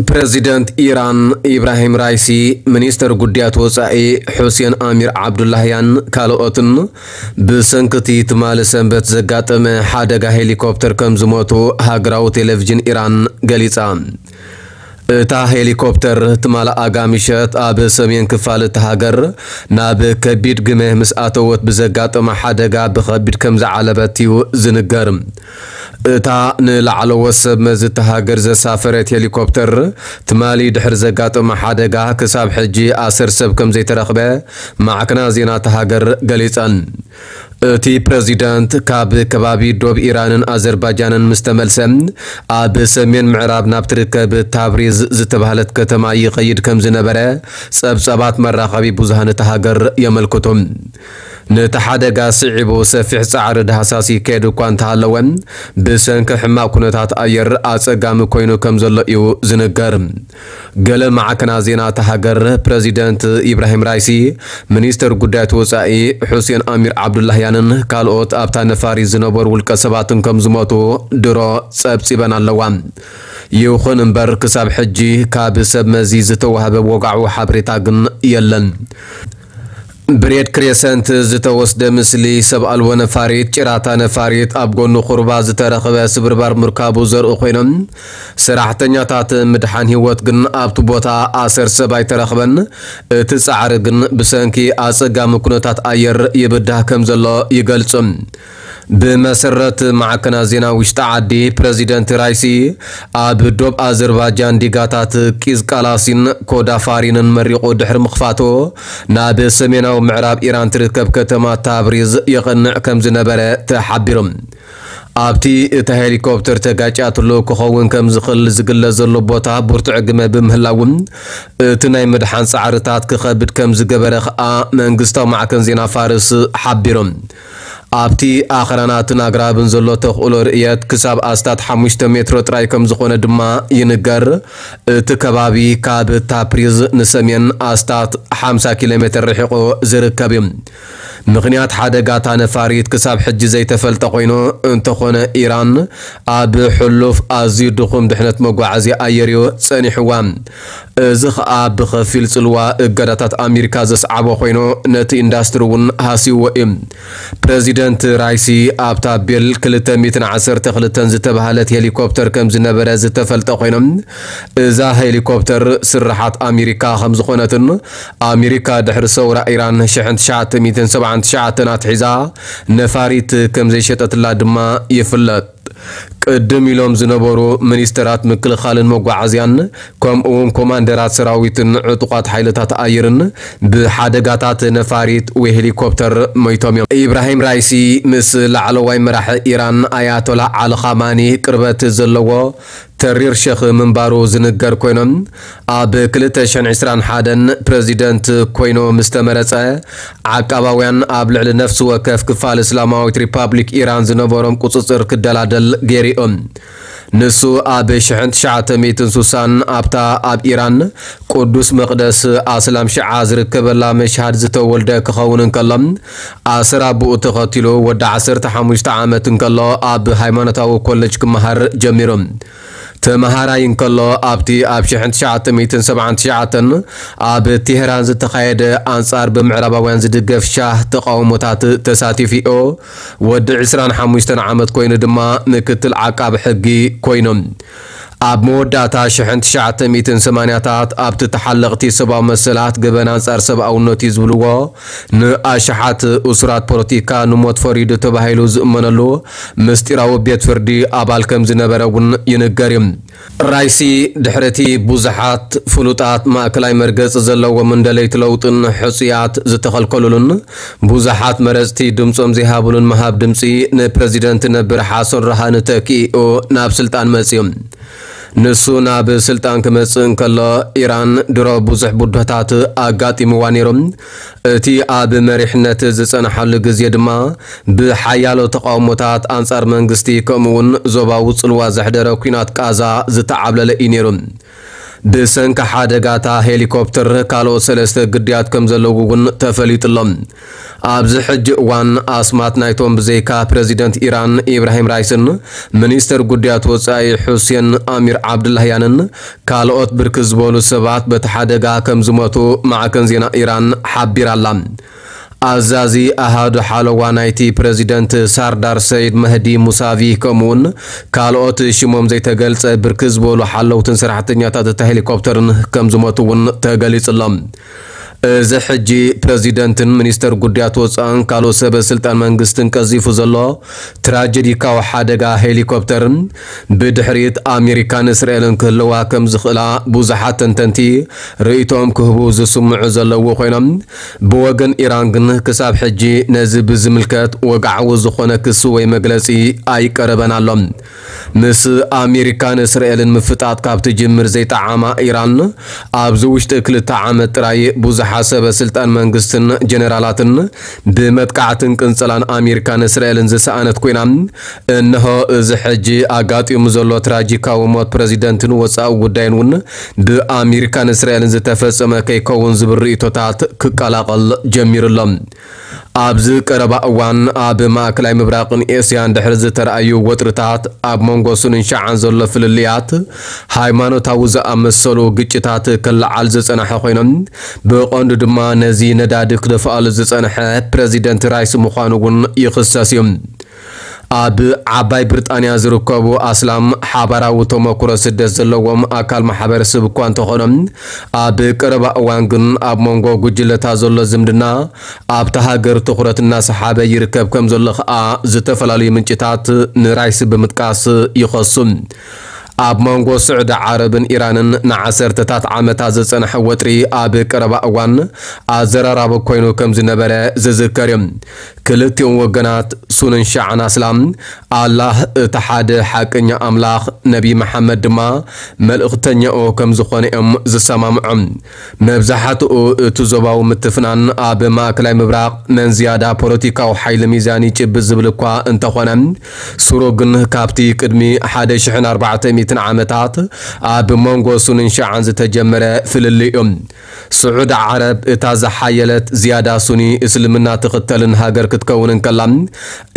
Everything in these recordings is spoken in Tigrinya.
ፕረዚደንት ኢራን ኢብራሂም ራይሲ፣ ሚኒስተር ጉዳያት ወጻኢ ሑሴን ኣሚር ዓብዱላህያን ካልኦትን ብሰንኪ እቲ ትማሊ ሰንበት ዘጋጠመ ሓደጋ ሄሊኮፕተር ከም ዝሞቱ ሃገራዊ ቴሌቪዥን ኢራን ገሊጻ። እታ ሄሊኮፕተር ትማሊ ኣጋ ምሸት ኣብ ሰሜን ክፋል እታ ሃገር ናብ ከቢድ ግመ ምስ ኣተወት ብዘጋጠመ ሓደጋ ብኸቢድ ከም ዝዓለበት እዩ ዝንገር። እታ ንላዕለዎት ሰብ መዚ እታ ሃገር ዘሳፈረት ሄሊኮፕተር ትማሊ ድሕሪ ዘጋጠመ ሓደጋ ክሳብ ሕጂ ኣሰር ሰብ ከም ዘይተረኽበ ማዕከናት ዜና እታ ሃገር ገሊጸን። እቲ ፕረዚደንት ካብ ከባቢ ዶብ ኢራንን ኣዘርባጃንን ምስ ተመልሰ፣ ኣብ ሰሜን ምዕራብ ናብ ትርከብ ታብሪዝ ዝተባህለት ከተማ ይኸይድ ከም ዝነበረ ጸብጻባት መራኸቢ ብዙሃን እታ ሃገር የመልክቱ። ነቲ ሓደጋ ስዒቡ ሰፊሕ ጻዕሪ ዳህሳስ ይካየድ እኳ እንተሃለወ፣ ብሰንኪ ሕማቕ ኩነታት ኣየር ኣጸጋሚ ኮይኑ ከም ዘሎ እዩ ዝንገር። ገለ ማዕከናት ዜና እታ ሃገር፣ ፕረዚደንት ኢብራሂም ራይሲ፣ ሚኒስተር ጉዳያት ወጻኢ ሑሴን ኣሚር ዓብዱላህያንን ካልኦት ኣብታ ነፋሪት ዝነበሩ ውልቀ ሰባትን ከም ዝሞቱ ድሮ ጸብጺበን ኣለዋ። ይኹን እምበር፣ ክሳብ ሕጂ ካብ ሰብ መዚ ዝተዋህበ ወግዓዊ ሓበሬታ ግን የለን። ብሬድ ክሬሰንት ዝተወስደ ምስሊ ሰብ ኣልቦ ነፋሪት፣ ጭራታ ነፋሪት ኣብ ጎኑ ቁሩባ ዝተረኽበ ስብርባር ምርካቡ ዘርኢ ኮይኖም፣ ሰራሕተኛታት ምድሓን ህይወት ግን ኣብቲ ቦታ ኣሰር ሰብ ኣይተረኽበን። እቲ ጻዕሪ ግን ብሰንኪ ኣጸጋሚ ኩነታት ኣየር ይብዳህ ከም ዘሎ ይገልጹ። ብመሰረት ማዕከናት ዜና ውሽጢ ዓዲ፣ ፕረዚደንት ራይሲ ኣብ ዶብ ኣዘርባጃን ዲጋታት ቂዝቃላሲን ኮዳፋሪንን መሪቑ ድሕሪ ምኽፋቱ፣ ናብ ሰሜናዊ ምዕራብ ኢራን ትርከብ ከተማ ታብሪዝ የቕንዕ ከም ዝነበረ ተሓቢሩ። ኣብቲ እታ ሄሊኮፕተር ተጋጭያትሉ ክኸውን ከም ዝኽእል ዝግለጽ ዘሎ ቦታ ብርቱዕ ግመ ብምህላው፣ እቲ ናይ ምድሓን ጻዕርታት ክኸብድ ከም ዝገበረ ከኣ መንግስታዊ ማዕከን ዜና ፋርስ ሓቢሩ። ኣብቲ ኣኽራናትን ኣግራብን ዘሎ ተኽእሎ ርእየት ክሳብ ኣስታት ሓሙሽተ ሜትሮ ጥራይ ከም ዝኾነ ድማ ይንገር። እቲ ከባቢ ካብ ታፕሪዝ ንሰሜን ኣስታት ሓምሳ ኪሎ ሜትር ርሒቑ ዝርከብ እዩ። ምኽንያት ሓደጋ እታ ነፋሪት ክሳብ ሕጂ ዘይተፈልጠ ኮይኑ፣ እንተኾነ ኢራን ኣብ ሕሉፍ ኣዝዩ ድኹም ድሕነት መጓዓዝያ ኣየር እዩ ጸኒሕዋ። እዚ ኸኣ ብኸፊል ጽልዋ እገዳታት ኣሜሪካ ዘስዓቦ ኮይኑ፣ ነቲ ኢንዳስትሪ እውን ሃስይዎ እዩ። ፕረዚደንት ራይሲ ኣብታ ቤል ክልተ ሚእትን ዓሰርተ ክልተን ዝተባህለት ሄሊኮፕተር ከም ዝነበረ ዝተፈልጠ ኮይኖም፣ እዛ ሄሊኮፕተር ስርሓት ኣሜሪካ ከም ዝኾነትን ኣሜሪካ ድሕሪ ሰውራ ኢራን ሽሕን ትሽዓተ ሚእትን ሰብዓን ትሽዓተን ኣትሒዛ ነፋሪት ከም ዘይሸጠትላ ድማ ይፍለጥ። ቅድም ኢሎም ዝነበሩ ሚኒስተራት ምክልኻልን መጓዓዝያን፣ ከምኡውን ኮማንደራት ሰራዊትን ዕጡቓት ሓይልታት ኣየርን ብሓደጋታት ነፋሪት ወይ ሄሊኮፕተር ሞይቶም እዮም። ኢብራሂም ራይሲ ምስ ላዕለዋይ መራሒ ኢራን ኣያቶላ ዓሊ ኻማኒ ቅርበት ዘለዎ ተሪር ሸኽ ምንባሩ ዝንገር ኮይኖም፣ ኣብ ክልተ ሽሕን ዕስራን ሓደን ፕረዚደንት ኮይኑ ምስ ተመረጸ፣ ዓቃባውያን ኣብ ልዕሊ ነፍሲ ወከፍ ክፋል እስላማዊት ሪፓብሊክ ኢራን ዝነበሮም ቁጽጽር ክደላደል ገይሩ እዩ። ንሱ ኣብ ሽሕን ትሽዓተ ሚእትን ስሳን ኣብታ ኣብ ኢራን ቅዱስ መቕደስ ኣስላም ሽዓ ዝርከበላ መሽሃድ ዝተወልደ ክኸውን እንከሎ፣ ኣሰር ኣቦኡ ተኸቲሉ ወዲ ዓሰርተ ሓሙሽተ ዓመት እንከሎ ኣብ ሃይማኖታዊ ኮለጅ ክመሃር ጀሚሩ። ተመሃራይ እንከሎ ኣብቲ ኣብ ሽሕን ትሽዓተ ሚእትን ሰብዓን ትሽዓተን ኣብ ቴህራን ዝተኻየደ ኣንጻር ብምዕራባውያን ዝድገፍ ሻህ ተቓውሞታት ተሳቲፉ እዩ። ወዲ ዕስራን ሓሙሽተን ዓመት ኮይኑ ድማ ምክትል ዓቃቢ ሕጊ ኮይኑ። ኣብ መወዳእታ ሽሕን ትሽዓተ ሚእትን ሰማንያታት ኣብቲ ተሓለቕቲ ሰብኣዊ መሰላት ገበን ኣንጻር ሰብኣውነት እዩ ዝብልዎ ንኣሽሓት እሱራት ፖለቲካ ንሞት ፈሪዱ ተባሂሉ ዝእመነሉ ምስጢራዊ ቤት ፍርዲ ኣባል ከም ዝነበረ እውን ይንገር እዩ። ራይሲ ድሕሪ እቲ ብዙሓት ፍሉጣት ማእከላይ መርገጺ ዘለዎም እንደለይቲ ለውጥን ሕጹያት ዝተኸልከሉሉን ብዙሓት መረጽቲ ድምጾም ዘይሃቡሉን ምሃብ ድምጺ ንፕረዚደንት ነበር ሓሰን ራሃኒ ተኪኡ ናብ ስልጣን መጺኡ። ንሱ ናብ ስልጣን ክመጽእ እንከሎ፣ ኢራን ድሮ ብዙሕ ብድሆታት ኣጋጢምዋ ነይሩ። እቲ ኣብ መሪሕነት ዝጸንሓሉ ግዜ ድማ ብሓያሎ ተቓውሞታት ኣንጻር መንግስቲ፣ ከምኡውን ዞባዊ ጽልዋ ዘሕደረ ኲናት ቃዛ ዝተዓብለለ እዩ ነይሩ። ብሰንኪ ሓደጋታ ሄሊኮፕተር ካልኦት ሰለስተ ግዳያት ከም ዘለዉ እውን ተፈሊጡ ኣሎ። ኣብዚ ሕጂ እዋን ኣስማት ናይቶም ብዘይካ ፕረዚደንት ኢራን ኢብራሂም ራይስን ሚኒስተር ጉዳያት ወጻኢ ሑሴን ኣሚር ዓብዱላህያንን ካልኦት ብርክት ዝበሉ ሰባት በቲ ሓደጋ ከም ዝሞቱ ማዕከን ዜና ኢራን ሓቢራ ኣላ። ኣዛዚ ኣሃዱ ሓለዋ ናይቲ ፕረዚደንት ሳርዳር ሰይድ መህዲ ሙሳቪ ከምኡውን ካልኦት ሽሞም ዘይተገልጸ ብርክት ዝበሉ ሓለውትን ሰራሕተኛታት እታ ሄሊኮፕተርን ከም ዝሞቱ እውን ተገሊጹ ኣሎ። እዚ ሕጂ ፕረዚደንትን ሚኒስተር ጉዳያት ወጻእን ካልኦት ሰበ ስልጣን መንግስትን ቀዚፉ ዘሎ ትራጀዲካዊ ሓደጋ ሄሊኮፕተር ብድሕሪት ኣሜሪካን እስራኤልን ክህልዋ ከም ዝኽእላ ብዙሓት ተንተንቲ ርእይቶኦም ክህቡ ዝስምዑ ዘለዉ ኮይኖም፣ ብወገን ኢራን ግን ክሳብ ሕጂ ነዚ ብዝምልከት ወግዓዊ ዝኾነ ክሲ ወይ መግለጺ ኣይቀረበን ኣሎ። ምስ ኣሜሪካን እስራኤልን ምፍጣጥ ካብ ትጅምር ዘይጠዓማ ኢራን፣ ኣብዚ ውሽጢ ክልተ ዓመት ጥራይ ብዙሓት ሰበ ስልጣን መንግስትን ጀነራላትን ብመጥቃዕትን ቅንጸላን ኣሜሪካን እስራኤልን ዝሰኣነት ኮይና፣ እንሆ እዚ ሕጂ ኣጋጢሙ ዘሎ ትራጂካዊ ሞት ፕረዚደንትን ወጻኢ ጉዳይን እውን ብኣሜሪካን እስራኤልን ዝተፈጸመ ከይከውን ዝብል ርእይቶታት ክቀላቐል ጀሚሩ ኣሎ። ኣብዚ ቀረባ እዋን ኣብ ማእከላይ ምብራቕን ኤስያን ድሕሪ ዝተረኣዩ ወጥርታት፣ ኣብ መንጎ ሱንን ሸዓን ዘሎ ፍልልያት ሃይማኖታዊ ዝኣመሰሉ ግጭታት ክለዓል ዝጸንሐ ኮይኖም፣ ብቐንዱ ድማ ነዚ ነዳዲ ክደፍኣሉ ዝጸንሐ ፕረዚደንት ራይስ ምዃኑ እውን ይኽሰስ እዩ። ኣብ ዓባይ ብሪጣንያ ዝርከቡ ኣስላም ሓባራዊ ተመክሮ ስደት ዘለዎም ኣካል ማሕበረሰብ እኳ እንተኾኖም፣ ኣብ ቀረባ እዋን ግን ኣብ መንጎ ጉጅለታት ዘሎ ዝምድና ኣብታ ሃገር ትኹረት እናሰሓበ ይርከብ ከም ዘሎ ኸኣ ዝተፈላለዩ ምንጭታት ንራይስ ብምጥቃስ ይኸሱ። ኣብ መንጎ ስዑዲ ዓረብን ኢራንን ንዓሰርተታት ዓመታት ዝጸንሐ ወጥሪ ኣብ ቀረባ እዋን ኣዘራራቢ ኮይኑ ከም ዝነበረ ዝዝከር እዩ። ክልቲኦም ወገናት ሱንን ሸዓን ኣስላም ኣላህ እቲ ሓደ ሓቀኛ ኣምላኽ፣ ነቢ መሓመድ ድማ መልእኽተኛኡ ከም ዝኾነ እዮም ዝሰማምዑ። መብዛሕትኡ እቲ ዞባዊ ምትፍናን ኣብ ማእከላይ ምብራቕ መን ዝያዳ ፖለቲካዊ ሓይሊ ሚዛን ይጭብጥ ዝብል እኳ እንተኾነ፣ ሱሩ ግን ካብቲ ቅድሚ ሓደ ሽሕን ኣርባዕተ ሚእትን ዓመታት ኣብ መንጎ ሱንን ሸዓን ዝተጀመረ ፍልልይ እዩ። ስዑዲ ዓረብ እታ ዝሓየለት ዝያዳ ሱኒ እስልምና ትኽተልን ሃገር ክትከውን እንከላ፣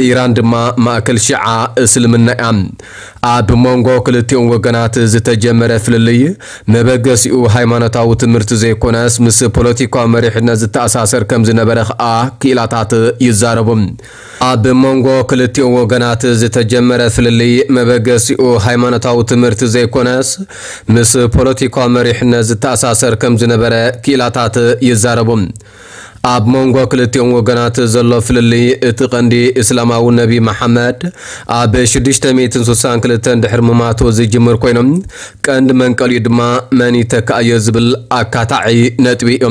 ኢራን ድማ ማእከል ሽዓ እስልምና እያ። ኣብ መንጎ ክልቲኦም ወገናት ዝተጀመረ ፍልልይ መበገሲኡ ሃይማኖታዊ ትምህርቲ ዘይኮነስ ምስ ፖለቲካዊ መሪሕነት ዝተኣሳሰር ከም ዝነበረ ኸኣ ክኢላታት ይዛረቡ። ኣብ መንጎ ክልቲኦም ወገናት ዝተጀመረ ፍልልይ መበገሲኡ ሃይማኖታዊ ትምህርቲ ዘይኮነስ ምስ ፖለቲካዊ መሪሕነት ዝተኣሳሰር ከም ዝነበረ ክኢላታት ይዛረቡ። ኣብ መንጎ ክልቲኦም ወገናት ዘሎ ፍልልይ እቲ ቀንዲ እስላማዊ ነቢ መሓመድ ኣብ ሽዱሽተ ሚእትን ስሳን ክልተን ድሕሪ ምማቱ ዝጅምር ኮይኖም፣ ቀንዲ መንቀሊኡ ድማ መን ይተክኣዮ ዝብል ኣካታዒ ነጥቢ እዩ።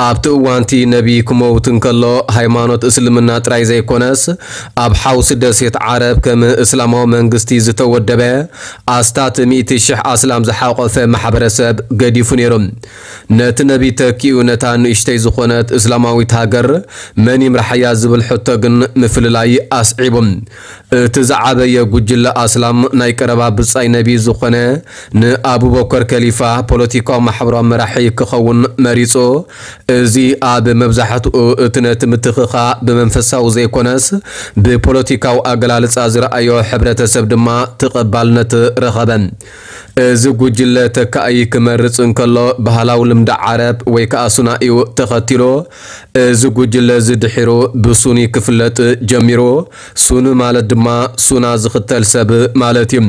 ኣብቲ እዋንቲ ነቢ ክመውት እንከሎ ሃይማኖት እስልምና ጥራይ ዘይኮነስ ኣብ ሓውሲ ደሴት ዓረብ ከም እስላማዊ መንግስቲ ዝተወደበ ኣስታት ሚእቲ ሽሕ ኣስላም ዝሓቆፈ ማሕበረሰብ ገዲፉ ነይሩ። ነቲ ነቢ ተኪኡ ነታ ንእሽተይ ዝኾነት እስላማዊት ሃገር መን ይምርሓያ ዝብል ሕቶ ግን ምፍልላይ ኣስዒቡ። እቲ ዝዓበየ ጉጅለ ኣስላም ናይ ቀረባ ብጻይ ነቢ ዝኾነ ንኣቡበከር ከሊፋ ፖለቲካዊ ማሕበራዊ መራሒ ክኸውን መሪጹ። እዚ ኣብ መብዛሕትኡ እቲ ነቲ ምትኽኻ ብመንፈሳዊ ዘይኮነስ ብፖለቲካዊ ኣገላልጻ ዝረኣዮ ሕብረተሰብ ድማ ተቐባልነት ረኸበ። እዚ ጉጅለ ተካኢ ክመርጽ እንከሎ ባህላዊ ልምዲ ዓረብ ወይ ከኣ ሱና እዩ ተኸቲሉ። እዚ ጉጅለ እዚ ድሒሩ ብሱኒ ክፍለጥ ጀሚሩ። ሱኒ ማለት ድማ ሱና ዝኽተል ሰብ ማለት እዩ።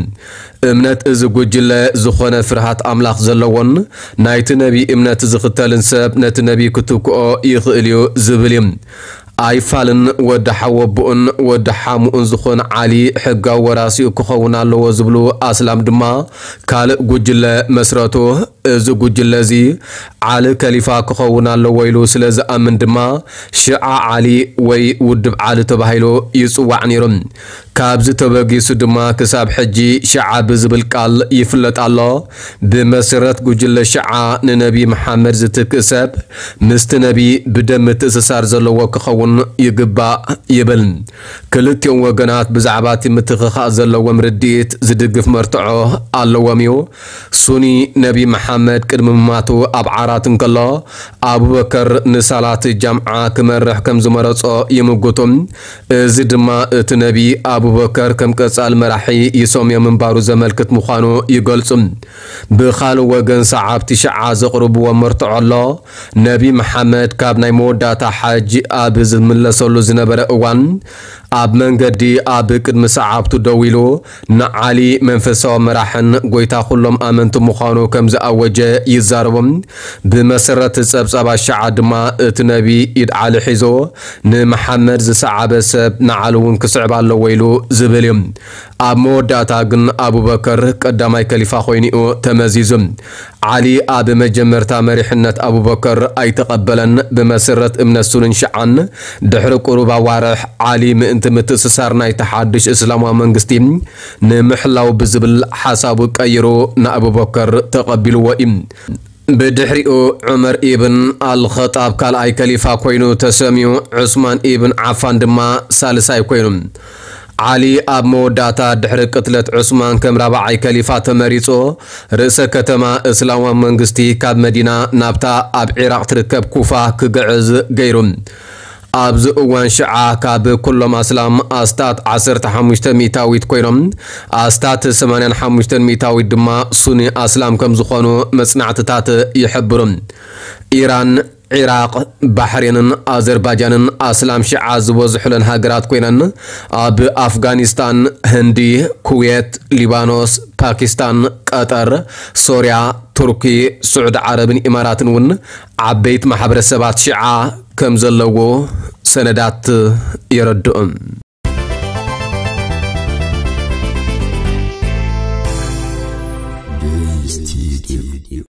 እምነት እዚ ጉጅለ ዝኾነ ፍርሃት ኣምላኽ ዘለዎን ናይቲ ነቢ እምነት ዝኽተልን ሰብ ነቲ ነቢ ክትክኦ ይኽእል እዩ ዝብል እዩ። ኣይፋልን ወዲ ሓወቦኡን ወዲ ሓሙኡን ዝኾነ ዓሊ ሕጋዊ ወራሲኡ ክኸውን ኣለዎ ዝብሉ ኣስላም ድማ ካልእ ጉጅለ መስረቱ። እዚ ጉጅለ እዚ ዓሊ ከሊፋ ክኸውን ኣለዎ ኢሉ ስለ ዝኣምን ድማ ሽዓ ዓሊ ወይ ውድብ ዓሊ ተባሂሉ ይጽዋዕ ነይሩ። ካብዚ ተበጊሱ ድማ ክሳብ ሕጂ ሽዓ ብዝብል ቃል ይፍለጥ ኣሎ። ብመሰረት ጉጅለ ሽዓ ንነቢ መሓመድ ዝትክእ ሰብ ምስቲ ነቢ ብደም ምትእስሳር ዘለዎ ክኸውን ይግባእ ይብል። ክልቲኦም ወገናት ብዛዕባ እቲ ምትኽኻእ ዘለዎም ርድኢት ዝድግፍ መርትዖ ኣለዎም እዩ። ሱኒ ነቢ መሓመድ ቅድሚ ምማቱ ኣብ ዓራት እንከሎ ኣቡበከር ንሳላት ጃምዓ ክመርሕ ከም ዝመረጾ ይምጉቱ። እዚ ድማ እቲ ነቢ ኣቡበከር ከም ቀጻሊ መራሒ ይሰምዮ ምንባሩ ዘመልክት ምዃኑ ይገልጹ። ብኻልእ ወገን ሰዓብቲ ሽዓ ዘቕርብዎ መርትዖ ኣሎ። ነቢ መሓመድ ካብ ናይ መወዳእታ ሓጅ ኣብ ዝምለሰሉ ዝነበረ እዋን ኣብ መንገዲ ኣብ ቅድሚ ሰዓብቱ ደው ኢሉ ንዓሊ መንፈሳዊ መራሕን ጎይታ ኩሎም ኣመንቲ ምዃኑ ከም ዝኣወጀ ይዛረቡ። ብመሰረት ጸብጻብ ኣሽዓ ድማ እቲ ነቢ ኢድ ዓሊ ሒዞ ንመሓመድ ዝሰዓበ ሰብ ንዓሊ እውን ክስዕብ ኣለዎ ኢሉ ዝብል እዩ። ኣብ መወዳእታ ግን ኣቡበከር ቀዳማይ ከሊፋ ኮይኑ እዩ ተመዚዙ። ዓሊ ኣብ መጀመርታ መሪሕነት ኣቡበከር ኣይተቐበለን። ብመሰረት እምነት ሱንን ሽዓን ድሕሪ ቁሩብ ኣዋርሕ ዓሊ ምእንቲ ምትእስሳር ናይቲ ሓድሽ እስላማዊ መንግስቲ ንምሕላው ብዝብል ሓሳቡ ቀይሩ ንኣቡበከር ተቐቢልዎ እዩ። ብድሕሪኡ ዑመር ኢብን ኣልኸጣብ ካልኣይ ከሊፋ ኮይኑ ተሰምዩ፣ ዑስማን ኢብን ዓፋን ድማ ሳልሳይ ኮይኑ። ዓሊ ኣብ መወዳእታ ድሕሪ ቅትለት ዑስማን ከም ራብዓይ ከሊፋ ተመሪጹ፣ ርእሰ ከተማ እስላማዊ መንግስቲ ካብ መዲና ናብታ ኣብ ዒራቕ ትርከብ ኩፋ ክግዕዝ ገይሩ። ኣብዚ እዋን ሽዓ ካብ ኩሎም ኣስላም ኣስታት ዓሰርተ ሓሙሽተ ሚእታዊት ኮይኖም፣ ኣስታት ሰማንያን ሓሙሽተን ሚእታዊት ድማ ሱኒ ኣስላም ከም ዝኾኑ መጽናዕትታት ይሕብሩ። ኢራን፣ ዒራቕ፣ ባሕሬንን ኣዘርባጃንን ኣስላም ሽዓ ዝበዝሑለን ሃገራት ኮይነን፣ ኣብ ኣፍጋኒስታን፣ ህንዲ፣ ኩዌት፣ ሊባኖስ፣ ፓኪስታን፣ ቀጠር፣ ሶርያ፣ ቱርኪ፣ ስዑዲ ዓረብን ኢማራትን እውን ዓበይቲ ማሕበረሰባት ሽዓ ከም ዘለዎ ሰነዳት የረድኡ።